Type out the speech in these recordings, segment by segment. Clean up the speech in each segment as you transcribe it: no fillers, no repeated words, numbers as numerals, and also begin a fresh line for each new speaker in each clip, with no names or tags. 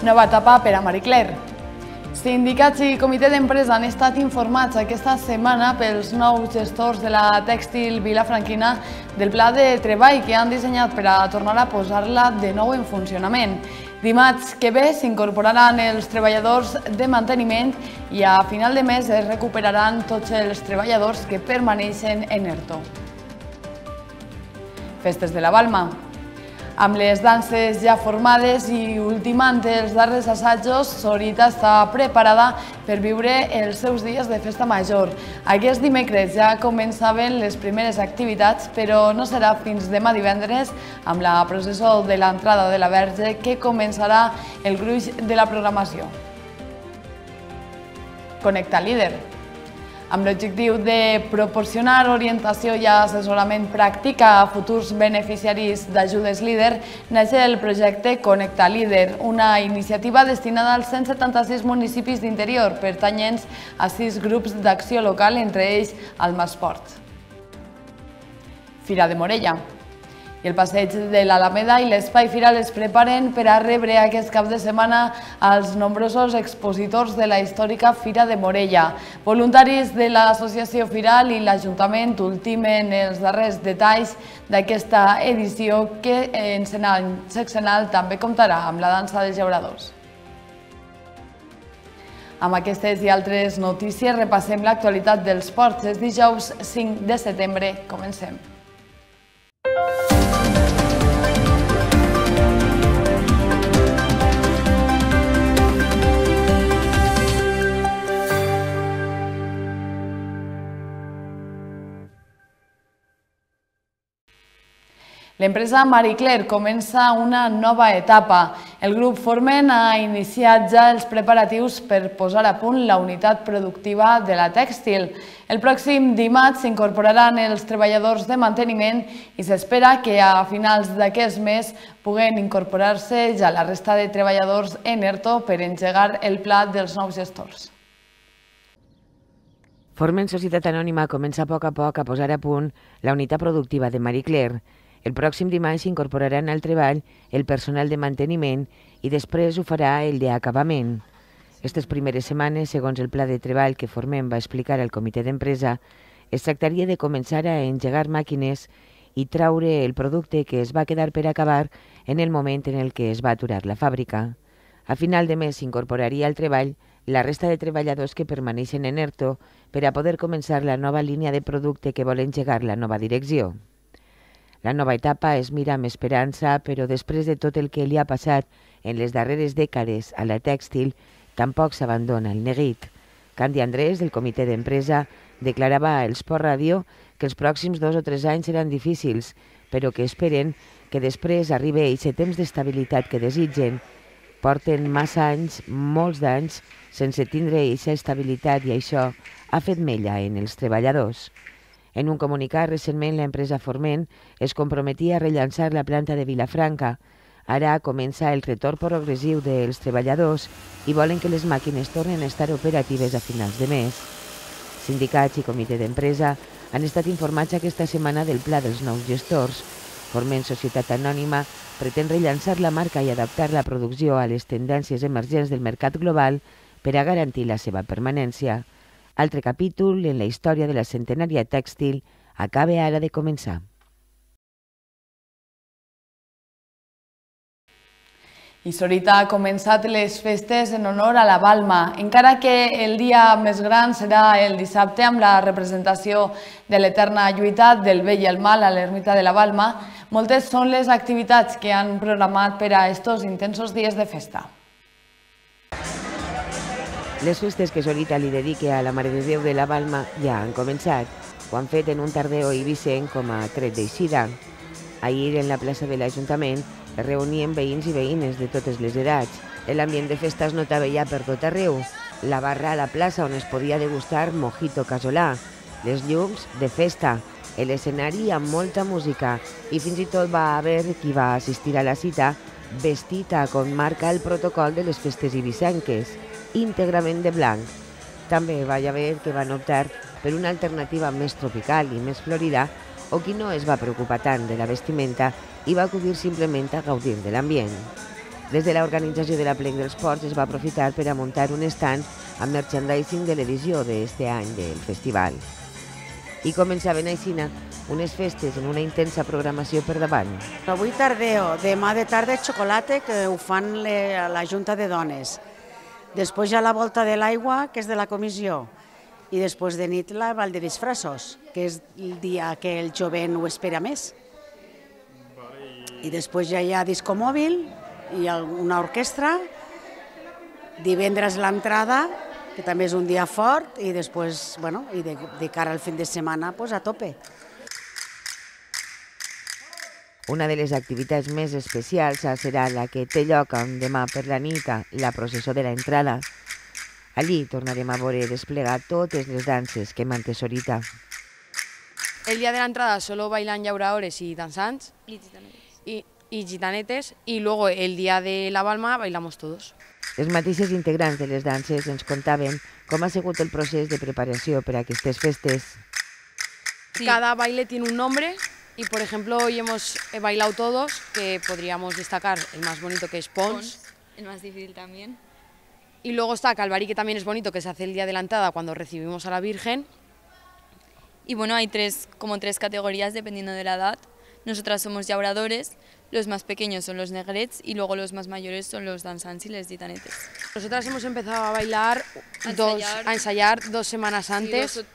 Nova etapa per a Marie Claire. Sindicats i comitè d'empresa han estat informats aquesta setmana pels nous gestors de la tèxtil vilafranquina del pla de treball que han dissenyat per a tornar a posar-la de nou en funcionament. Dimarts que ve s'incorporaran els treballadors de manteniment i a final de mes es recuperaran tots els treballadors que permaneixen en ERTO. Festes de la Balma. Amb les danses ja formades i ultimant els darrers assajos, Sorita està preparada per viure els seus dies de festa major. Aquest dimecres ja començaven les primeres activitats, però no serà fins demà divendres amb la processó de l'entrada de la Verge que començarà el gruix de la programació. Connecta Líder. Amb l'objectiu de proporcionar orientació i assessorament pràctic a futurs beneficiaris d'ajudes líder, neix el projecte Connecta Líder, una iniciativa destinada als 176 municipis d'interior, pertanyents a 6 grups d'acció local, entre ells el Masport. Fira de Morella. I el passeig de l'Alameda i l'Espai Firal es preparen per a rebre aquest cap de setmana als nombrosos expositors de la històrica Fira de Morella. Voluntaris de l'Associació Firal i l'Ajuntament ultimen els darrers detalls d'aquesta edició que en any sexenal també comptarà amb la dansa de llauradors. Amb aquestes i altres notícies repassem l'actualitat dels ports. És dijous 5 de setembre. Comencem. L'empresa Marie Claire comença una nova etapa. El grup Forment ha iniciat ja els preparatius per posar a punt la unitat productiva de la tèxtil. El pròxim dimarts s'incorporaran els treballadors de manteniment i s'espera que a finals d'aquest mes puguen incorporar-se ja la resta de treballadors en ERTO per engegar el pla dels nous gestors.
Forment Societat Anònima comença a poc a posar a punt la unitat productiva de Marie Claire. El pròxim dimarts s'incorporaran al treball el personal de manteniment i després ho farà el d'acabament. Aquestes primeres setmanes, segons el pla de treball que Forment va explicar al comitè d'empresa, es tractaria de començar a engegar màquines i traure el producte que es va quedar per acabar en el moment en el que es va aturar la fàbrica. A final de mes s'incorporaria al treball la resta de treballadors que permaneixen en ERTO per a poder començar la nova línia de producte que vol engegar la nova direcció. La nova etapa es mira amb esperança, però després de tot el que li ha passat en les darreres dècades a la tèxtil, tampoc s'abandona el neguit. Candy Andrés, del comitè d'empresa, declarava a Esport Ràdio que els pròxims 2 o 3 anys seran difícils, però que esperen que després arribi aquest temps d'estabilitat que desitgen. Porten massa anys, molts d'anys, sense tindre aquesta estabilitat i això ha fet mella en els treballadors. En un comunicat, recentment, l'empresa Forment es comprometia a rellançar la planta de Vilafranca. Ara comença el retorn progressiu dels treballadors i volen que les màquines tornen a estar operatives a finals de mes. Sindicats i comitè d'empresa han estat informats aquesta setmana del pla dels nous gestors. Forment Societat Anònima pretén rellançar la marca i adaptar la producció a les tendències emergents del mercat global per a garantir la seva permanència. Altre capítol en la història de la centenària tèxtil acaba ara de començar.
I Sorita ha començat les festes en honor a la Balma, encara que el dia més gran serà el dissabte amb la representació de l'eterna lluita del bé i el mal a l'ermita de la Balma. Moltes són les activitats que han programat per a estos intensos dies de festa.
Les festes que Sorita li dedica a la Mare de Déu de la Balma ja han començat. Ho han fet en un tardeo eivissent com a tret d'eixida. Ahir, en la plaça de l'Ajuntament, es reunien veïns i veïnes de totes les edats. L'ambient de festa es notava ja per tot arreu. La barra a la plaça on es podia degustar mojito casolà, les llums de festa, l'escenari amb molta música i fins i tot va haver qui va assistir a la cita vestida com marca el protocol de les festes eivisssenques, íntegrament de blanc. També va haver que van optar per una alternativa més tropical i més florida o qui no es va preocupar tant de la vestimenta i va acudir simplement a gaudir de l'ambient. Des de l'organització de l'Aplec dels Ports es va aprofitar per a muntar un stand amb merchandising de l'edició d'aquest any del festival. I començaven aixina unes festes en una intensa programació per davant.
Avui tardeo, demà de tarda xocolata, que ho fan a la Junta de Dones. Després ja la volta de l'aigua, que és de la comissió. I després de nit la ball de disfressos, que és el dia que el jovent ho espera més. I després ja hi ha disco mòbil, i una orquestra, divendres l'entrada, que també és un dia fort, i després, bueno, i de cara al fin de setmana, pues a tope.
Una de les activitats més especials serà la que té lloc demà per la nit, la processó de l'entrada. Allí tornarem a veure desplegar totes les danses que manté Sorita.
El día de la entrada solo bailan llauradores y danzants y gitanetes, y luego el día de la balma bailamos todos.
Els mateixos integrants de les danses ens contaven com ha sigut el procés de preparació per a aquestes festes.
Sí. Cada baile tiene un nombre y, por ejemplo, hoy hemos bailado todos, que podríamos destacar el más bonito, que es Pons.
El más difícil también.
Y luego está Calvarí, que también es bonito, que se hace el día de la entrada cuando recibimos a la Virgen.
Y bueno, hay como tres categorías dependiendo de la edad. Nosotras somos llauradores, los más pequeños son los negrets y luego los más mayores son los danzants y les gitanetes.
Nosotras hemos empezado a bailar, a ensayar 2 semanas antes.
Sí,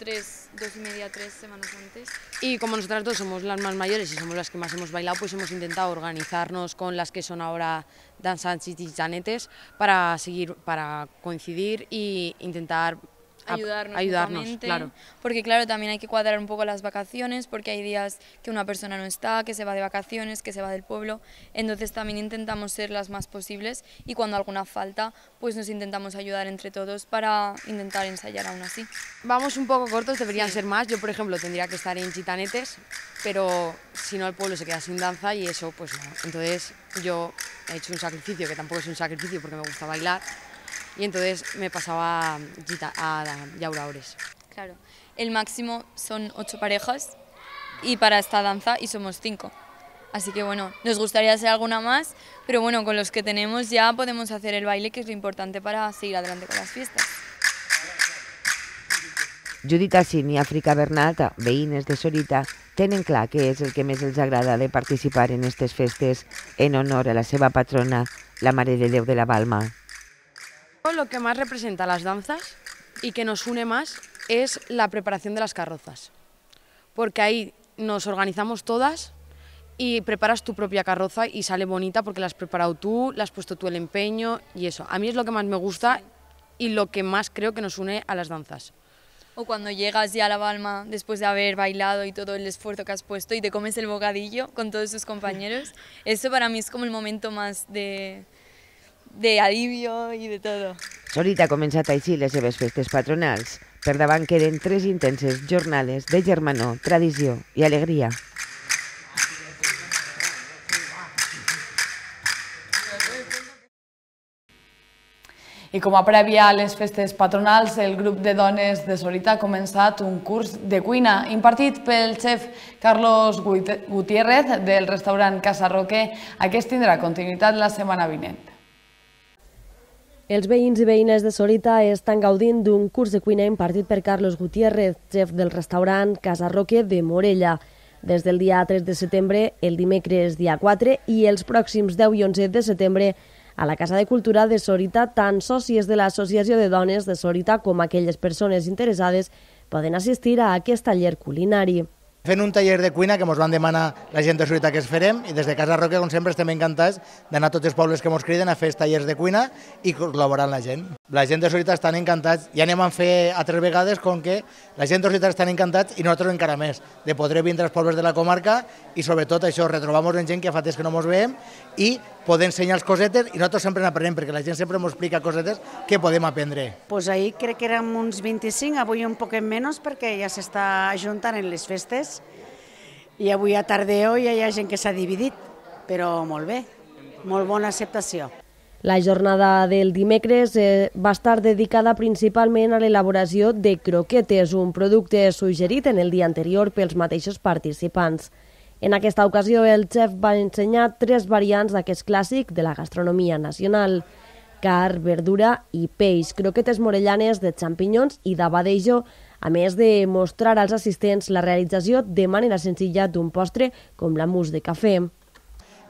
2 y media, 3 semanas antes.
Y como nosotras dos somos las más mayores y somos las que más hemos bailado, pues hemos intentado organizarnos con las que son ahora danzants y gitanetes para coincidir y intentar ayudarnos, claro.
Porque claro, también hay que cuadrar un poco las vacaciones, porque hay días que una persona no está, que se va de vacaciones, que se va del pueblo, entonces también intentamos ser las más posibles y cuando alguna falta, pues nos intentamos ayudar entre todos para intentar ensayar aún así.
Vamos un poco cortos, deberían ser más. Yo, por ejemplo, tendría que estar en gitanetes, pero si no el pueblo se queda sin danza y eso, pues no. Entonces yo he hecho un sacrificio, que tampoco es un sacrificio porque me gusta bailar, y entonces me pasaba a llauradores.
Claro, el máximo son 8 parejas y para esta danza y somos 5. Así que bueno, nos gustaría hacer alguna más, pero bueno, con los que tenemos ya podemos hacer el baile, que es lo importante para seguir adelante con las fiestas.
Judit Assin i Àfrica Bernat, veïnes de Sorita, tenen clar què és el que més els agrada de participar en aquestes festes en honor a la seva patrona, la Mare de Déu de la Balma.
Lo que más representa las danzas y que nos une más es la preparación de las carrozas, porque ahí nos organizamos todas y preparas tu propia carroza y sale bonita porque la has preparado tú, le has puesto tú el empeño y eso. A mí es lo que más me gusta y lo que más creo que nos une a las danzas.
O cuando llegas ya a la balma después de haber bailado y todo el esfuerzo que has puesto y te comes el bocadillo con todos tus compañeros, eso para mí es como el momento más de alivio i de tot.
Sorita ha començat així les seves festes patronals. Per davant queden 3 intenses jornades de germanor, tradició i alegria.
I com a prèvia a les festes patronals, el grup de dones de Sorita ha començat un curs de cuina impartit pel xef Carlos Gutiérrez del restaurant Casa Roque. Aquest tindrà continuïtat la setmana vinent.
Els veïns i veïnes de Sorita estan gaudint d'un curs de cuina impartit per Carlos Gutiérrez, xef del restaurant Casa Roque de Morella. Des del dia 3 de setembre, el dimecres dia 4 i els pròxims 10 i 11 de setembre a la Casa de Cultura de Sorita, tant sòcies de l'Associació de Dones de Sorita com aquelles persones interessades poden assistir a aquest taller culinari.
Fent un taller de cuina que ens van demanar la gent de Sorita que es farem i des de Casa Roque, com sempre, estem encantats d'anar a tots els pobles que ens criden a fer els tallers de cuina i col·laborar amb la gent. La gent de Sorita estan encantats, ja anem a fer altres vegades com que la gent de Sorita estan encantats i nosaltres encara més, de poder vindre als pobles de la comarca i sobretot això, retrobar-nos en gent que fa temps que no ens veiem i poder ensenyar-los cosetes i nosaltres sempre n'aprenem perquè la gent sempre ens explica cosetes que podem aprendre.
Pues ahir crec que érem uns 25, avui un poquet menys perquè ja s'està ajuntant en les festes i avui a tardeo ja hi ha gent que s'ha dividit, però molt bé, molt bona acceptació.
La jornada del dimecres va estar dedicada principalment a l'elaboració de croquetes, un producte suggerit en el dia anterior pels mateixos participants. En aquesta ocasió, el xef va ensenyar 3 variants d'aquest clàssic de la gastronomia nacional: carn, verdura i peix, croquetes morellanes de xampinyons i d'abadejo, a més de mostrar als assistents la realització de manera senzilla d'un postre com la mousse de cafè.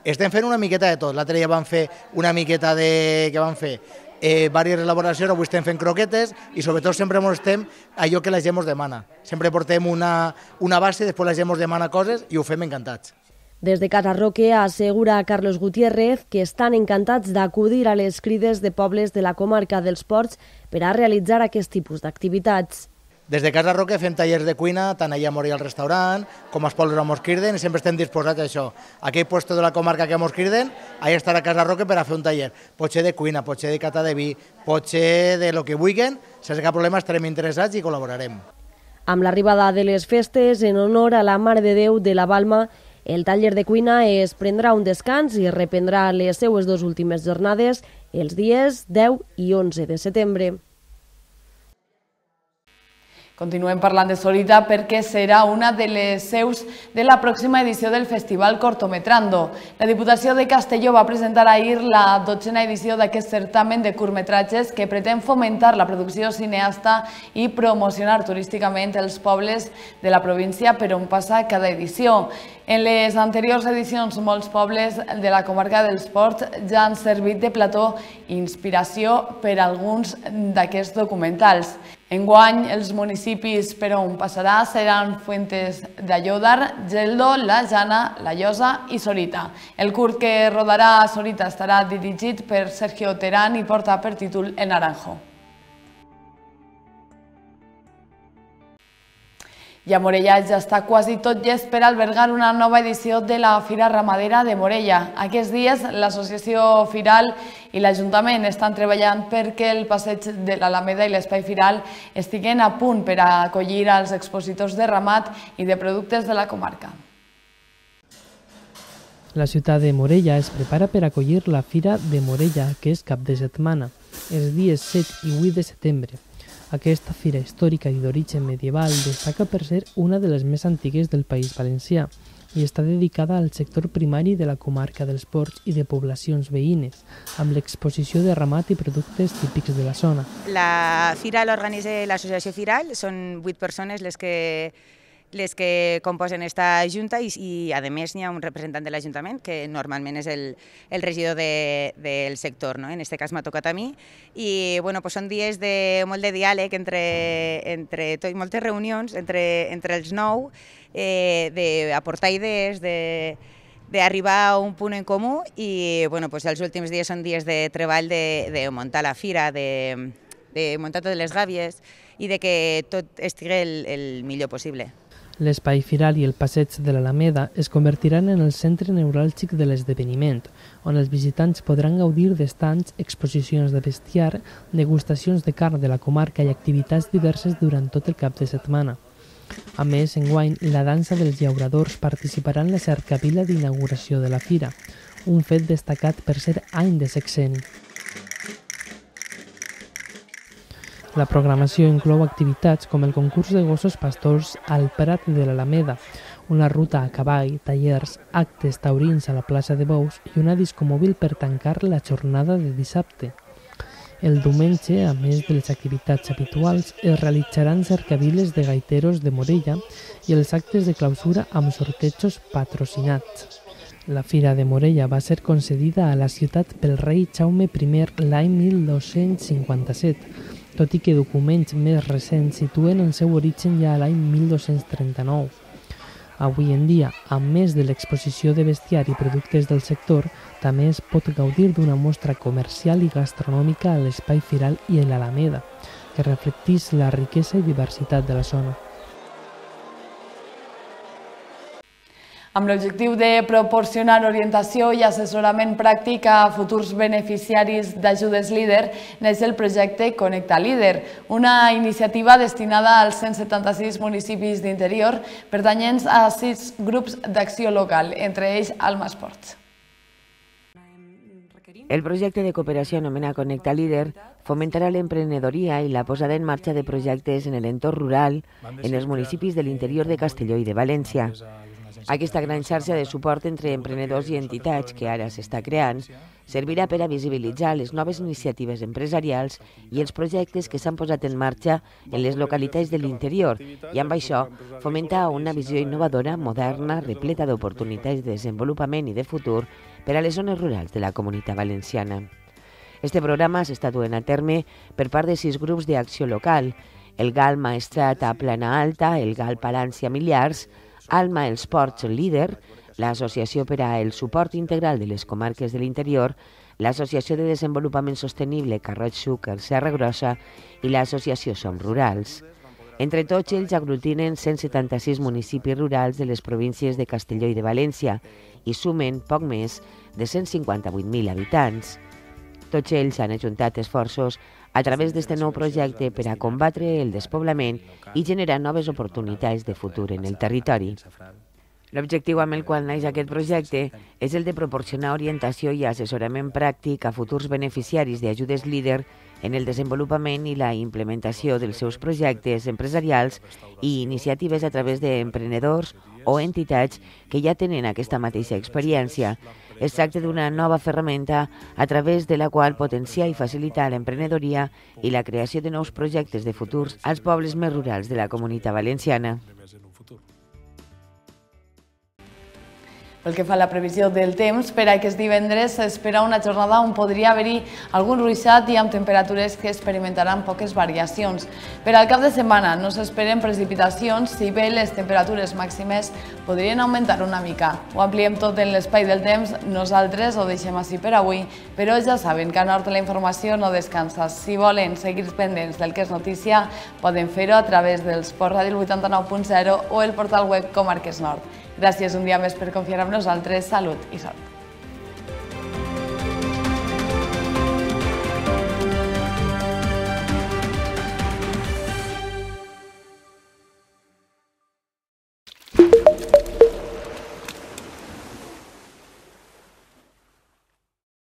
Estem fent una miqueta de tot. L'altre dia vam fer una miqueta de... Què vam fer? Diverses elaboracions, avui estem fent croquetes i sobretot sempre mostrem allò que la gent ens demana. Sempre portem una base, després la gent ens demana coses i ho fem encantats.
Des de Casa Roque assegura Carlos Gutiérrez que estan encantats d'acudir a les crides de pobles de la comarca dels Ports per a realitzar aquest tipus d'activitats.
Des de Casa Roque fem tallers de cuina, tant allà a Morella al restaurant, com als pobles on ens criden, i sempre estem disposats a això. Aquell lloc de la comarca que ens criden, allà estarà a Casa Roque per a fer un taller. Pot ser de cuina, pot ser de cata de vi, pot ser de lo que vulguin, sense cap problema estarem interessats i col·laborarem.
Amb l'arribada de les festes, en honor a la Mare de Déu de la Balma, el taller de cuina es prendrà un descans i reprendrà les seues 2 últimes jornades els dies 10 i 11 de setembre.
Continuem parlant de Sorita perquè serà una de les seus de la pròxima edició del Festival Cortometrando. La Diputació de Castelló va presentar ahir la 12a edició d'aquest certamen de curtmetratges que pretén fomentar la producció cineasta i promocionar turísticament els pobles de la província per on passa cada edició. En les anteriors edicions, molts pobles de la comarca dels Ports ja han servit de plató i inspiració per a alguns d'aquests documentals. Enguany, els municipis per on passarà seran Fuentes d'Aiòdar, Geldo, La Jana, La Llosa i Sorita. El curt que rodarà a Sorita estarà dirigit per Sergio Terán i porta per títol El Naranjo. I a Morella ja està quasi tot llest per albergar una nova edició de la Fira Ramadera de Morella. Aquests dies l'associació Firal i l'Ajuntament estan treballant perquè el passeig de l'Alameda i l'espai Firal estiguen a punt per a acollir els expositors de ramat i de productes de la comarca.
La ciutat de Morella es prepara per acollir la Fira de Morella, que és cap de setmana, els dies 7 i 8 de setembre. Aquesta fira històrica i d'origen medieval destaca per ser una de les més antigues del País Valencià i està dedicada al sector primari de la comarca dels Ports i de poblacions veïnes, amb l'exposició de ramat i productes típics de la zona.
La fira l'organitza l'associació Firal, són 8 persones les que composen esta junta i a més n'hi ha un representant de l'Ajuntament que normalment és el regidor del sector, no? En aquest cas m'ha tocat a mi i són dies de molt de diàleg entre tot, moltes reunions entre els 9, d'aportar idees, d'arribar a un punt en comú i els últims dies són dies de treball de muntar la fira, de muntar totes les gàbies i de que tot estigui el millor possible.
L'espai Firal i el passeig de l'Alameda es convertiran en el centre neuràlgic de l'esdeveniment, on els visitants podran gaudir d'estands, exposicions de bestiar, degustacions de carn de la comarca i activitats diverses durant tot el cap de setmana. A més, enguany, la dansa dels llauradors participarà en la cercavila d'inauguració de la fira, un fet destacat per ser any de sexeni. La programació inclou activitats com el concurs de gossos pastors al Prat de l'Alameda, una ruta a cavall, tallers, actes taurins a la plaça de Bous i una discomòbil per tancar la jornada de dissabte. El diumenge, a més de les activitats habituals, es realitzaran cercaviles de gaiteros de Morella i els actes de clausura amb sortejos patrocinats. La Fira de Morella va ser concedida a la ciutat pel rei Jaume I l'any 1257, tot i que documents més recents situen el seu origen ja a l'any 1239. Avui en dia, a més de l'exposició de bestiar i productes del sector, també es pot gaudir d'una mostra comercial i gastronòmica a l'espai Firal i a l'Alameda, que reflecteix la riquesa i diversitat de la zona.
Amb l'objectiu de proporcionar orientació i assessorament pràctic a futurs beneficiaris d'ajudes líder, neix el projecte Connecta Líder, una iniciativa destinada als 176 municipis d'interior pertanyents a 6 grups d'acció local, entre ells Alma Esports.
El projecte de cooperació anomenat Connecta Líder fomentarà l'emprenedoria i la posada en marxa de projectes en l'entorn rural en els municipis de l'interior de Castelló i de València. Aquesta gran xarxa de suport entre emprenedors i entitats que ara s'està creant servirà per a visibilitzar les noves iniciatives empresarials i els projectes que s'han posat en marxa en les localitats de l'interior i amb això fomentar una visió innovadora, moderna, repleta d'oportunitats de desenvolupament i de futur per a les zones rurals de la Comunitat Valenciana. Este programa s'està duent a terme per part de 6 grups d'acció local: el GAL Maestrat a Plana Alta, el GAL Palància Millars, Alma els Ports Líder, l'Associació per al Suport Integral de les Comarques de l'Interior, l'Associació de Desenvolupament Sostenible Carroig Xúquer Serra Grossa i l'Associació Som Rurals. Entre tots ells aglutinen 176 municipis rurals de les províncies de Castelló i de València i sumen poc més de 158.000 habitants. Tots ells han ajuntat esforços a través d'este nou projecte per a combatre el despoblament i generar noves oportunitats de futur en el territori. L'objectiu amb el qual naix aquest projecte és el de proporcionar orientació i assessorament pràctic a futurs beneficiaris d'ajudes líder en el desenvolupament i la implementació dels seus projectes empresarials i iniciatives a través d'emprenedors o entitats que ja tenen aquesta mateixa experiència. Es tracta d'una nova ferramenta a través de la qual potenciar i facilitar l'emprenedoria i la creació de nous projectes de futurs als pobles més rurals de la Comunitat Valenciana.
Pel que fa a la previsió del temps, per aquest divendres s'espera una jornada on podria haver-hi algun ruixat i amb temperatures que experimentaran poques variacions. Per al cap de setmana no s'esperen precipitacions, si bé les temperatures màximes podrien augmentar una mica. Ho ampliem tot en l'espai del temps, nosaltres ho deixem així per avui, però ja saben que a Nord la informació no descansa. Si volen seguir pendents del que és notícia, poden fer-ho a través del Sport Ràdio 89.0 o el portal web Comarques Nord. Gràcies un dia més per confiar en nosaltres, salut i sort.